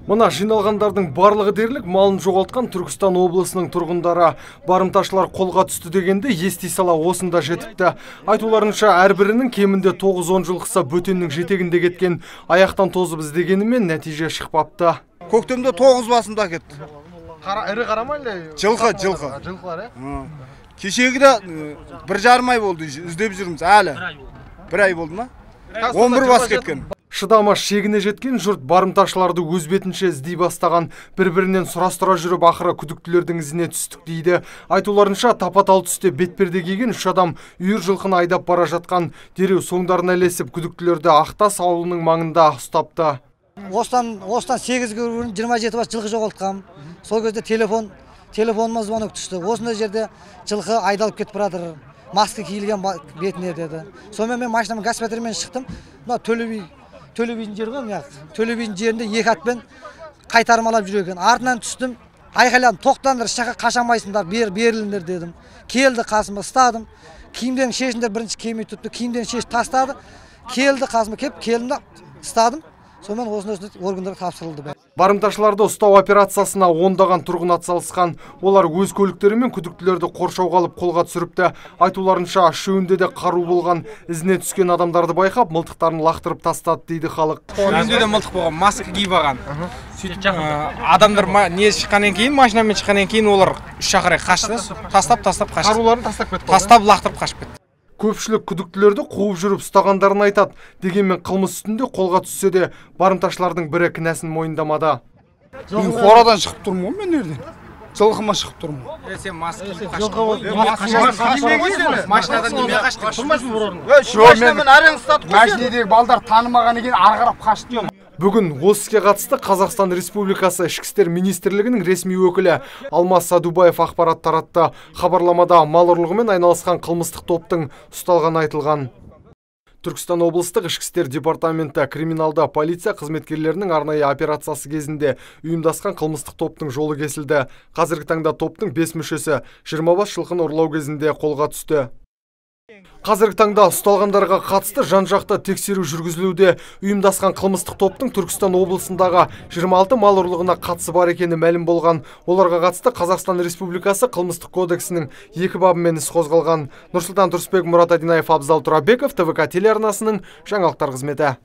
Мына жиналғандардың барлығы дерлік малын жоғалтқан Түркістан облысының тұрғындары. Барымташылар қолға түсті дегенде ести сала осында жетіпті. Айтуларынша әрбірінің кемінде 9-10 жылқысы бөтеннің жетегінде кеткен. Аяқтан тозып іздегенімен нәтиже шықпапты. Көктемде 9 басында кетті. Ірі қарамайлы? Жылқы. Жылқылар, Кешегі де 1,5 ай болды іздеп жүрміз әлі. 1 ай болды ма? 11 бас кеткен. Шыдама шегіне жеткен жұрт барымташыларды өз бетінше іздей бастаған. Бір-бірінен сұрастыра жүріп ақыры күдіктілердің ізіне түстік дейді. Айтуларынша тапа-тал түсте бетперде киген 3 адам үйір жылқыны айдап бара жатқан. Дереу соңдарына ілесіп күдіктілерді Ақтас ауылының маңында ұстапты. Осыдан 8 күн 27 бас жылқы жоғалтқам. Сол кезде телефоныма звонок түсті. Осындай жерде жылқы айдалып кетіп баратыр. Маска киілген бетіне деді. Сонымен мен машинамның газ пәтерімен шықтым. Мына Төле бидің жері ғой, Төле бидің жерінде 2 атпен қайтармалап жүр екен. Артынан түстім, айқайладым, тоқтаңдар, шақа қашамайсыңдар, беріліңдер дедім. Келді қасыма, ұстадым. Киімдерін шешіндер, бірінші киімі тұтты, киімдерін шеш тастады. Келді қасыма кеп, келдім да ұстадым. Сонымен осындай органдарға тапсырылды. Барымташыларды ұстау операциясына ондаған тұрғын атсалысқан. Олар өз көліктері мен күдіктілерді қоршауға алып қолға түсіріпті. Айтуларынша үшеуінде де қару болған. Ізіне түскен адамдарды байқап, мылтықтарын лақтырып тастады дейді халық. Үйінде де мылтық болған, маска киіп алған. Адамдар не шыққаннан кейін, машинамен шыққаннан кейін олар үш шақырай қашты, тастап қашты. Қаруларын тастап кетті. Тастап лақтырып қашып кетті. Көпшілік күдіктілерді қуып жүріп ұстағандарын айтады. Дегенмен қылмыс үстінде қолға түссе де, барымташылардың бірі кінәсін мойындамады. Мен қорадан шығып тұрмын ғой, мен nereden? Жылқыма шығып тұрмын. Сен маска машинадан неме қаштың? Тұрмайсың бір орында. Машинедегі балдар танымаған екен, арғарап қашты. Бүгін осы іске қатысты Қазақстан Республикасы Ішкі істер министрлігінің ресми өкілі Алмас Садубаев ақпарат таратты. Хабарламада мал ұрлығымен айналысқан қылмыстық топтың ұсталғаны айтылған. Түркістан облыстық ішкі істер департаменті криминалды полиция қызметкерлерінің арнайы операциясы кезінде ұйымдасқан қылмыстық топтың жолы кесілді. Қазіргі таңда топтың 5 мүшесі 20 бас жылқыны ұрлау кезінде қолға түсті. Қазіргі таңда ұсталғандарға қатысты жан-жақты тексеру жүргізілуде. Ұйымдасқан қылмыстық топтың Түркістан облысындағы 26 мал ұрлығына қатысы бар екені мәлім болған. Оларға қатысты Қазақстан Республикасы қылмыстық кодексінің 2 бабымен іс қозғалған. Нұрсұлтан Тұрысбек, Мұрат Адинаев, Абзал Тұрабеков, ТВК телеарнасының жаңалықтар қызметі.